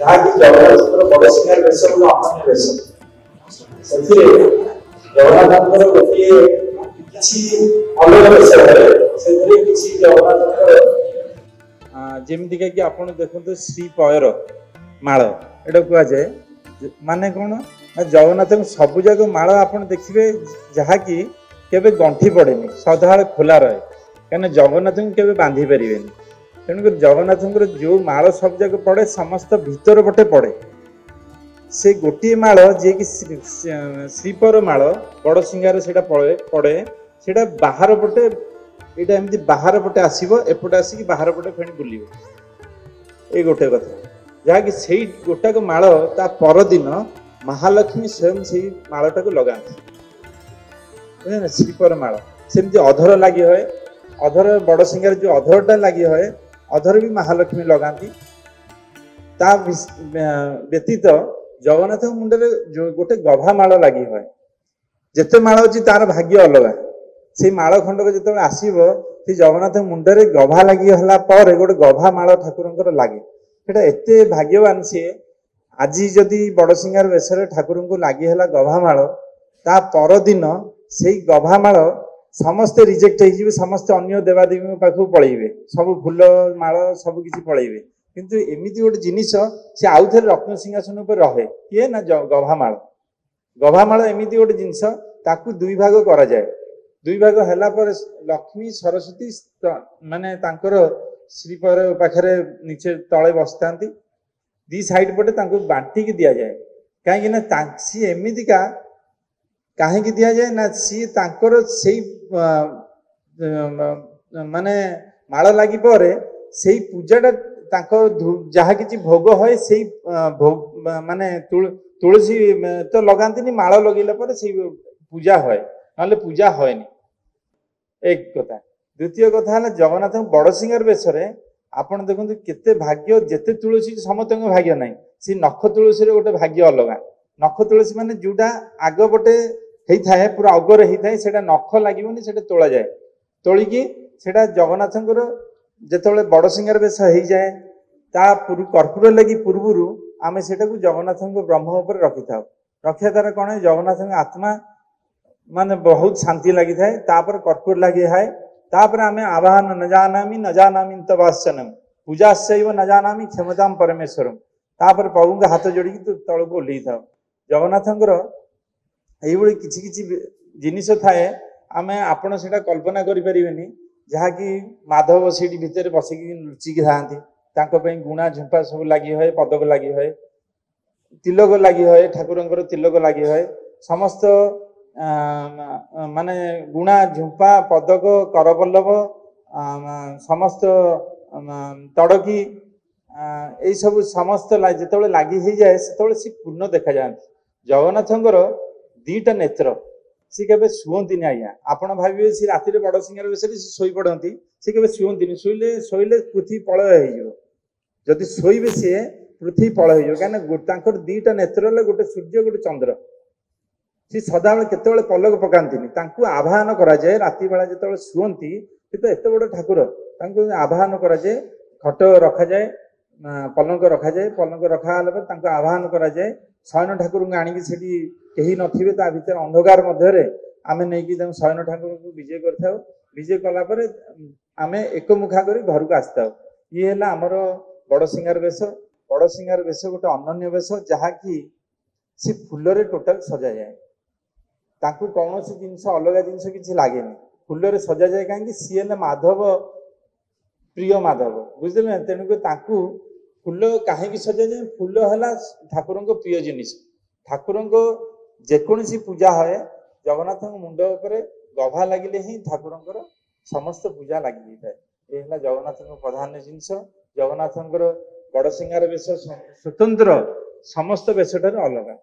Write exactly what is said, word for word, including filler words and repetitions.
ଯାହାକି ଜଗନ୍ନାଥଙ୍କର ବଡ଼ସିଂହାର ବେଶ ଗୋଟେ ଅନନ୍ୟ ବେଶ। ସେଥିରେ ଜଗନ୍ନାଥଙ୍କର ଗୋଟିଏ କିଛି ଅଲଗା ବେଶ ହୁଏ। ସେଥିରେ କିଛି ଜଗନ୍ନାଥଙ୍କର ଯେମିତିକା କି ଆପଣ ଦେଖନ୍ତୁ, ଶ୍ରୀ ପୟର ମାଳ ଏଇଟା କୁହାଯାଏ। ମାନେ କ'ଣ ନା ଜଗନ୍ନାଥଙ୍କ ସବୁଯାକ ମାଳ ଆପଣ ଦେଖିବେ ଯାହାକି କେବେ ଗଣ୍ଠି ପଡ଼େନି, ସଦାବେଳେ ଖୋଲା ରହେ। କାହିଁକିନା ଜଗନ୍ନାଥଙ୍କୁ କେବେ ବାନ୍ଧି ପାରିବେନି। ତେଣୁକରି ଜଗନ୍ନାଥଙ୍କର ଯେଉଁ ମାଳ ସବୁଯାକ ପଡ଼େ, ସମସ୍ତ ଭିତର ପଟେ ପଡ଼େ। ସେ ଗୋଟିଏ ମାଳ ଯିଏକି ଶ୍ରୀପର ମାଳ, ବଡ଼ ସିଙ୍ଗାର, ସେଇଟା ପଡ଼େ ପଡ଼େ ସେଇଟା ବାହାର ପଟେ। ଏଇଟା ଏମିତି ବାହାର ପଟେ ଆସିବ, ଏପଟେ ଆସିକି ବାହାର ପଟେ ଫେଣି ବୁଲିବ। ଏଇ ଗୋଟେ କଥା, ଯାହାକି ସେଇ ଗୋଟାକ ମାଳ ତା ପରଦିନ ମହାଲକ୍ଷ୍ମୀ ସ୍ୱୟଂ ସେଇ ମାଳଟାକୁ ଲଗାନ୍ତି, ବୁଝିଲେ? ଶ୍ରୀପର ମାଳ। ସେମିତି ଅଧର ଲାଗି ହୁଏ। ଅଧର, ବଡ଼ ସିଙ୍ଗାର ଯୋଉ ଅଧରଟା ଲାଗି ହୁଏ, ଅଧର ବି ମହାଲକ୍ଷ୍ମୀ ଲଗାନ୍ତି। ତା ବ୍ୟତୀତ ଜଗନ୍ନାଥଙ୍କ ମୁଣ୍ଡରେ ଯୋଉ ଗୋଟେ ଗଭା ମାଳ ଲାଗି ହୁଏ। ଯେତେ ମାଳ ଅଛି ତାର ଭାଗ୍ୟ ଅଲଗା। ସେଇ ମାଳ ଖଣ୍ଡକ ଯେତେବେଳେ ଆସିବ, ସେ ଜଗନ୍ନାଥଙ୍କ ମୁଣ୍ଡରେ ଗଭା ଲାଗି ହେଲା ପରେ ଗୋଟେ ଗଭା ମାଳ ଠାକୁରଙ୍କର ଲାଗେ। ସେଟା ଏତେ ଭାଗ୍ୟବାନ ସିଏ। ଆଜି ଯଦି ବଡ଼ସିଂହାର ବେଶରେ ଠାକୁରଙ୍କୁ ଲାଗି ହେଲା ଗଭା ମାଳ, ତା ପରଦିନ ସେଇ ଗଭା ମାଳ ସମସ୍ତେ ରିଜେକ୍ଟ ହେଇଯିବେ, ସମସ୍ତେ ଅନ୍ୟ ଦେବାଦେବୀଙ୍କ ପାଖକୁ ପଳେଇବେ, ସବୁ ଫୁଲ ମାଳ ସବୁ କିଛି ପଳେଇବେ। କିନ୍ତୁ ଏମିତି ଗୋଟେ ଜିନିଷ, ସେ ଆଉ ଥରେ ରତ୍ନ ସିଂହାସନ ଉପରେ ରହେ। କିଏ ନା ଗଭା ମାଳ। ଗଭା ମାଳ ଏମିତି ଗୋଟେ ଜିନିଷ, ତାକୁ ଦୁଇ ଭାଗ କରାଯାଏ। ଦୁଇ ଭାଗ ହେଲା ପରେ ଲକ୍ଷ୍ମୀ ସରସ୍ୱତୀ ମାନେ ତାଙ୍କର ଶ୍ରୀପର ପାଖରେ ନିଚେ ତଳେ ବସିଥାନ୍ତି, ଦି ସାଇଡ୍ ପଟେ ତାଙ୍କୁ ବାଣ୍ଟିକି ଦିଆଯାଏ। କାହିଁକି ନା ସିଏ ଏମିତିକା। କାହିଁକି ଦିଆଯାଏ ନା ସିଏ ତାଙ୍କର ସେଇ ମାନେ ମାଳ ଲାଗି ପରେ ସେଇ ପୂଜାଟା ତାଙ୍କ ଯାହା କିଛି ଭୋଗ ହୁଏ, ସେଇ ମାନେ ତୁଳସୀ ତ ଲଗାନ୍ତିନି, ମାଳ ଲଗେଇଲା ପରେ ସେଇ ପୂଜା ହୁଏ, ନହେଲେ ପୂଜା ହୁଏନି। ଏକ କଥା। ଦ୍ୱିତୀୟ କଥା ହେଲା, ଜଗନ୍ନାଥଙ୍କ ବଡ଼ସିଂହାର ବେଶରେ ଆପଣ ଦେଖନ୍ତୁ କେତେ ଭାଗ୍ୟ। ଯେତେ ତୁଳସୀ ସମସ୍ତଙ୍କ ଭାଗ୍ୟ ନାହିଁ। ସେ ନଖ ତୁଳସୀରେ ଗୋଟେ ଭାଗ୍ୟ ଅଲଗା। ନଖ ତୁଳସୀ ମାନେ ଯୋଉଟା ଆଗ ପଟେ ହେଇଥାଏ, ପୁରା ଅଗରେ ହେଇଥାଏ, ସେଇଟା ନଖ ଲାଗିବନି, ସେଇଟା ତୋଳାଯାଏ। ତୋଳିକି ସେଇଟା ଜଗନ୍ନାଥଙ୍କର ଯେତେବେଳେ ବଡ଼ସିଂହାର ବେଶ ହେଇଯାଏ, ତା କର୍ପୂର ଲାଗି ପୂର୍ବରୁ ଆମେ ସେଇଟାକୁ ଜଗନ୍ନାଥଙ୍କ ବ୍ରହ୍ମ ଉପରେ ରଖିଥାଉ। ରଖିବା ଦ୍ୱାରା କ'ଣ, ଜଗନ୍ନାଥଙ୍କ ଆତ୍ମା ମାନେ ବହୁତ ଶାନ୍ତି ଲାଗିଥାଏ। ତାପରେ କର୍ପୂର ଲାଗି ହୁଏ। ତାପରେ ଆମେ ଆବାହନ ନ ଜାନାମି ନ ଜାନାମି ତବାସନମ ପୂଜାଶୈବ ନ ଜାନାମି କ୍ଷମତାମ ପରମେଶ୍ୱରମ। ତାପରେ ପ୍ରଭୁଙ୍କ ହାତ ଯୋଡ଼ିକି ତଳକୁ ଓହ୍ଲେଇଥାଉ। ଜଗନ୍ନାଥଙ୍କର ଏଇଭଳି କିଛି କିଛି ଜିନିଷ ଥାଏ, ଆମେ ଆପଣ ସେଇଟା କଳ୍ପନା କରିପାରିବେନି। ଯାହାକି ମାଧବ ସେଇଠି ଭିତରେ ବସିକି ଲୁଚିକି ଥାଆନ୍ତି। ତାଙ୍କ ପାଇଁ ଗୁଣା ଝୁମ୍ପା ସବୁ ଲାଗି ହୁଏ, ପଦକ ଲାଗି ହୁଏ, ତିଲକ ଲାଗି ହୁଏ, ଠାକୁରଙ୍କର ତିଲକ ଲାଗି ହୁଏ। ସମସ୍ତ ମାନେ ଗୁଣା ଝୁମ୍ପା, ପଦକ, କରବଲ୍ଲଭ, ସମସ୍ତ ତଡ଼କି, ଏଇସବୁ ସମସ୍ତ ଯେତେବେଳେ ଲାଗି ହେଇଯାଏ, ସେତେବେଳେ ସେ ପୂର୍ଣ୍ଣ ଦେଖାଯାଆନ୍ତି। ଜଗନ୍ନାଥଙ୍କର ଦିଟା ନେତ୍ର। ସେ କେବେ ଶୁଅନ୍ତିନି ଆଜ୍ଞା। ଆପଣ ଭାବିବେ ସେ ରାତିରେ ବଡ଼ ସିଂହାର ବେଶରେ ସେ ଶୋଇପଡ଼ନ୍ତି। ସେ କେବେ ଶୁଅନ୍ତିନି। ଶୋଇଲେ ଶୋଇଲେ ପୃଥିବୀ ପ୍ରଳୟ ହେଇଯିବ। ଯଦି ଶୋଇବେ ସିଏ, ପୃଥିବୀ ପ୍ରଳୟ ହେଇଯିବ। କାହିଁକିନା ତାଙ୍କର ଦିଟା ନେତ୍ର ହେଲେ ଗୋଟେ ସୂର୍ଯ୍ୟ, ଗୋଟେ ଚନ୍ଦ୍ର। ସେ ସଦାବେଳେ କେତେବେଳେ ପଲକ ପକାନ୍ତିନି। ତାଙ୍କୁ ଆବାହନ କରାଯାଏ ରାତି ବେଳା ଯେତେବେଳେ ଶୁଅନ୍ତି। ସେ ତ ଏତେ ବଡ଼ ଠାକୁର, ତାଙ୍କୁ ଆବାହନ କରାଯାଏ। ଖଟ ରଖାଯାଏ, ପଲଙ୍କ ରଖାଯାଏ। ପଲଙ୍କ ରଖା ହେଲା ପରେ ତାଙ୍କୁ ଆବାହନ କରାଯାଏ। ଶୟନ ଠାକୁରଙ୍କୁ ଆଣିକି ସେଠି କେହି ନଥିବେ, ତା ଭିତରେ ଅନ୍ଧକାର ମଧ୍ୟରେ ଆମେ ନେଇକି ତାଙ୍କୁ ଶୟନ ଠାକୁରଙ୍କୁ ବିଜେ କରିଥାଉ। ବିଜେ କଲା ପରେ ଆମେ ଏକମୁଖା କରି ଘରକୁ ଆସିଥାଉ। ଇଏ ହେଲା ଆମର ବଡ଼ ସିଂହାର ବେଶ। ବଡ଼ ସିଂହାର ବେଶ ଗୋଟେ ଅନନ୍ୟ ବେଶ, ଯାହାକି ସେ ଫୁଲରେ ଟୋଟାଲ ସଜାଯାଏ। ତାଙ୍କୁ କୌଣସି ଜିନିଷ, ଅଲଗା ଜିନିଷ କିଛି ଲାଗେନି, ଫୁଲରେ ସଜାଯାଏ। କାହିଁକି? ସିଏ ହେଲେ ମାଧବ, ପ୍ରିୟ ମାଧବ, ବୁଝିଲେ ନା? ତେଣୁକରି ତାଙ୍କୁ ଫୁଲ କାହିଁକି ସଜାଯାଏ? ଫୁଲ ହେଲା ଠାକୁରଙ୍କ ପ୍ରିୟ ଜିନିଷ। ଠାକୁରଙ୍କ ଯେକୌଣସି ପୂଜା ହୁଏ, ଜଗନ୍ନାଥଙ୍କ ମୁଣ୍ଡ ଉପରେ ଗଭା ଲାଗିଲେ ହିଁ ଠାକୁରଙ୍କର ସମସ୍ତ ପୂଜା ଲାଗି ଯାଇଥାଏ। ଏ ହେଲା ଜଗନ୍ନାଥଙ୍କ ପ୍ରଧାନ ଜିନିଷ। ଜଗନ୍ନାଥଙ୍କର ବଡ଼ସିଂହାର ବେଶ ସ୍ୱତନ୍ତ୍ର, ସମସ୍ତ ବେଶଠାରୁ ଅଲଗା।